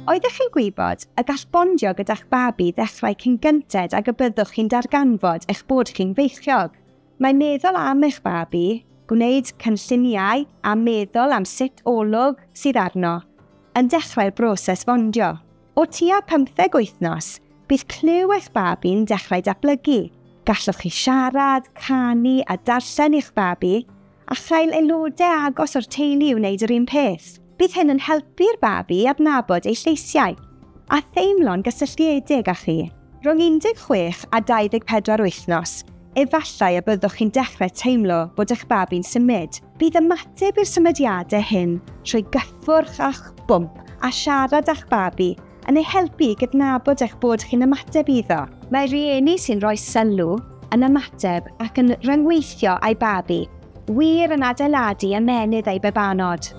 Oeddech chi'n gwybod y gall bondio gyda'ch babi ddechrau cyn gynted ag y byddwch chi'n darganfod eich bod chi'n feichiog? Mae meddwl am eich babi, gwneud cynlluniau a meddwl am sut olwg sydd arno, yn dechrau'r broses fondio. O tua 15 wythnos, bydd clyw eich babi'n dechrau datblygu. Gallwch chi siarad, canu a darllen i'ch babi, a chael aelodau agos o'r teulu i wneud yr un peth. Bydd hyn yn helpu'r babi i adnabod ei lleisiau a theimlo'n gysylltiedig â chi. Rhwng 16 a 24 wythnos, efallai y byddwch chi'n dechrau teimlo bod eich babi'n symud. Bydd ymateb i'r symudiadau hyn trwy gyffwrdd a'ch bwmp a siarad â'ch babi yn ei helpu i gydnabod eich bod chi'n ymateb iddo. Mae rhieni sy'n rhoi sylw yn ymateb ac yn rhyngweithio â'i babi wir yn adeiladu ymennydd eu babanod.